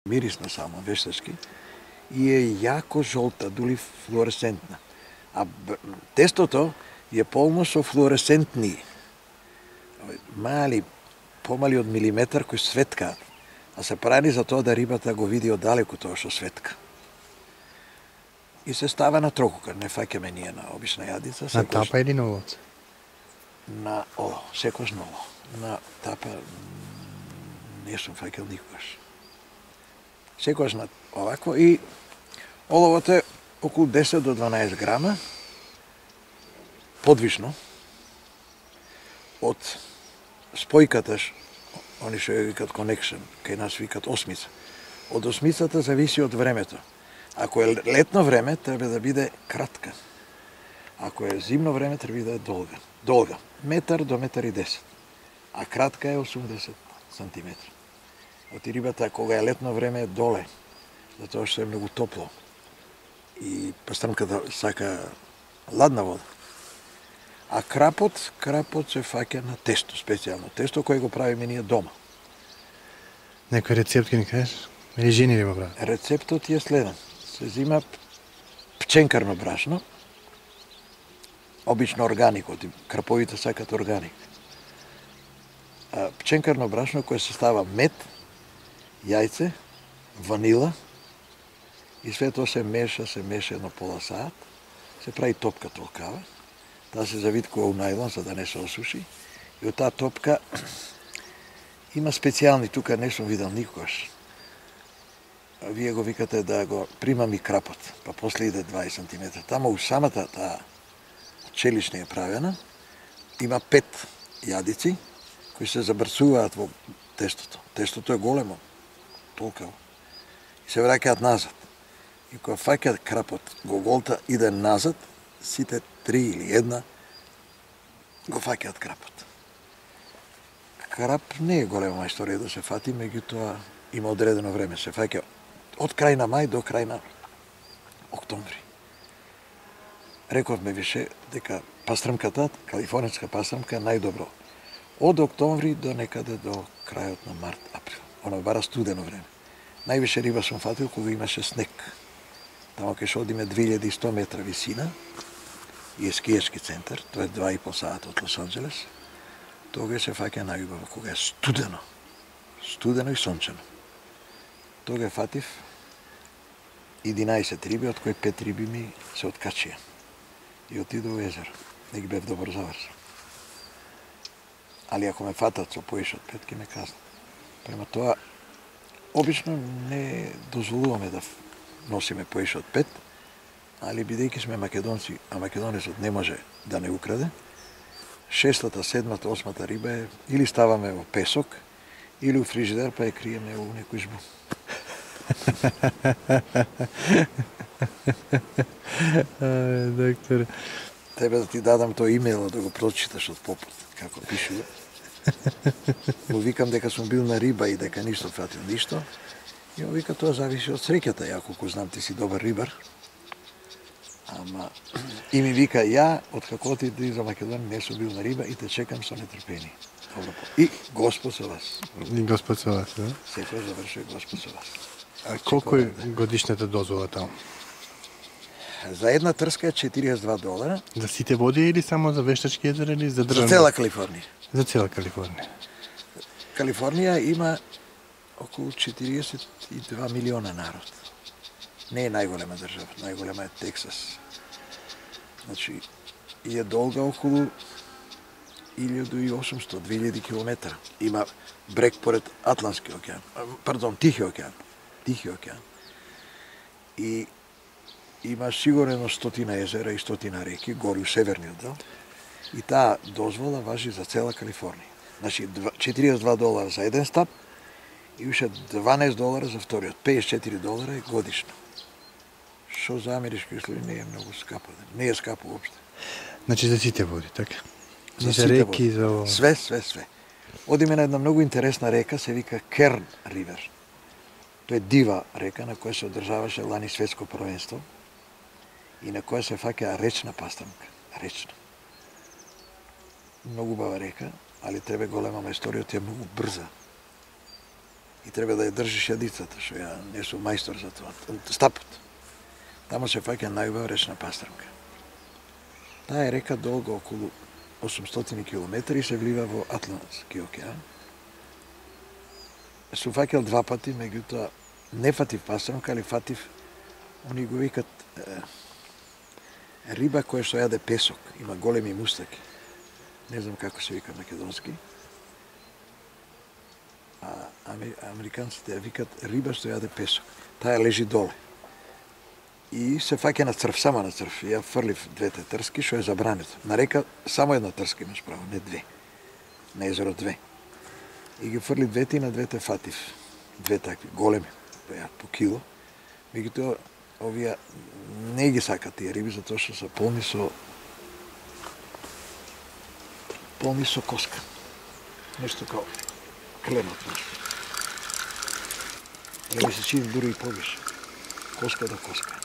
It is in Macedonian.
мирисна само, вештачки, и е јако жолта, дули флуоресцентна. А тестото е полно со флуоресцентни, мали, помали од милиметар, кои светкаат, а се прави за тоа да рибата го види оддалеку тоа што светка. И се става на трокукар, не фаќаме ние на обична јадица. На тапа или на оловце? На олов, секојаш на олов. На тапа не сум фаќал никогаш. Секојаш на овакво и оловот е околу 10 до 12 грама, подвишно, од спојката, они што ја викат connection, кај нас викат осмица. Од осмицата зависи од времето. Ако е летно време, треба да биде кратка. Ако е зимно време, треба да биде долга. Метар до метар и 10. А кратка е 80 сантиметра. Оти рибата, кога е летно време, е доле, затоа што е многу топло. И пастрмката сака ладна вода. А крапот се фаќа на тесто, специјално тесто кој го правиме ние дома. Некој рецепт ки ни кажеш? Или жени ли го прават? Рецептот е следен. Се зима пченкарно брашно, обично органик, краповите сакат органик. Пченкарно брашно кое се става мед, јајце, ванила и све тоа се меша едно пола саат, се прави топка толкава, таа се завиткува у најлон за да не се осуши и од таа топка има специјални, тука не сум видел никогаш. Вие го викате да го примами крапот, па после иде 20 см. Тамо у самата таа челична е правена, има 5 јадици кои се забрцуваат во тестото. Тестото е големо, толкаво. И се враќаат назад. И кога фаќаат крапот, го голта иде назад, сите 3 или 1 го фаќаат крапот. Крап не е голема историја да се фати, меѓутоа има одредено време. Се фаќа од крај на мај до крај на октомври. Рековме више дека пастрмката, калифорнијска пастрмка е најдобро. Од октомври до некаде до крајот на март, април. Оно бара студено време. Највише риба сум фатил кога имаше снег. Тамо кај што одиме 2100 метра висина и е скијачки центар, тоа е 2,5 сата од Лос Анџелес. Тога се фаќа најубаво кога е студено. Студено и сончено. Тога фатив 11 риби, од кои 5 риби ми се откачија. И отидов во езеро. Не ги бев добро завршен. Али ако ме фатат со поише од 5, ке ме казнат. Према тоа, обично не дозволуваме да носиме поише од 5, али бидејќи сме македонци, а македонецот не може да не украде, 6-та, 7-та, 8-та риба е или ставаме во песок, или у фрижидер, па ја криеме у некој жбу. Доктор. Тебе да ти дадам тој имејл да го прочиташ од попот, како пишува. Му викам дека сум бил на риба и дека ништо фатил ништо. И му вика тоа зависи од среќата, ја колку знам ти си добар рибар. Ама и ми вика ја од како отиди за Македонија не сум бил на риба и те чекам со нетрпение. И Господ со вас. И Господ со вас, да? Секој завршува Господ со вас. А колку е годишната дозвола таму? За една трска е $42. За сите води или само за Вештачки езера или за државни? За цела Калифорнија. За цела Калифорнија. Калифорнија има околу 42 милиона народ. Не е најголема држава, најголема е Тексас. Значи, и е долга околу 1800-2000 километра. Има брег поред Атлантски океан, пардон, Тихи океан. И има сигурно 100 езера и 100 реки, гори у северниот дел. И таа дозвола важи за цела Калифорнија. Значи, $42 за еден стап и уште $12 за вториот. $54 е годишно. Што за амерички услови не е многу скапо. Не е скапо уопште. Значи за сите води, така? За за сите реки, води. за... Све. Одиме на една многу интересна река, се вика Керн Ривер. Тоа е дива река на која се одржаваше лани светско првенство и на која се фаќа речна пастрмка. Речна. Многу убава река, али тебе голема мајсториот е многу брза. И треба да ја држиш јадицата, што ја не сум мајстор за тоа. Стапот. Тамо се фаќа најубава речна пастрамка. Таа е река долга околу 800 км и се влива во Атлантски океан. Сум фаќал 2 пати, меѓутоа не фатив пастрамка, али фатив, они го викат риба која што јаде песок, има големи мустаки. Не знам како се вика македонски. А американците ја викат риба што јаде песок. Таа лежи доле. И се фаќа на црв, само на црв. Ја фрлив 2 трски, што е забрането. На река само една трска имаш право, не 2. На езеро 2. И ги фрли 2 и на 2 фатив. 2 такви, големи, по кило. Меѓутоа, овие не ги сакат тие риби, затоа што се полни со коска. Нешто као клемат. Не ми се чини дури и повише. Коска до коска.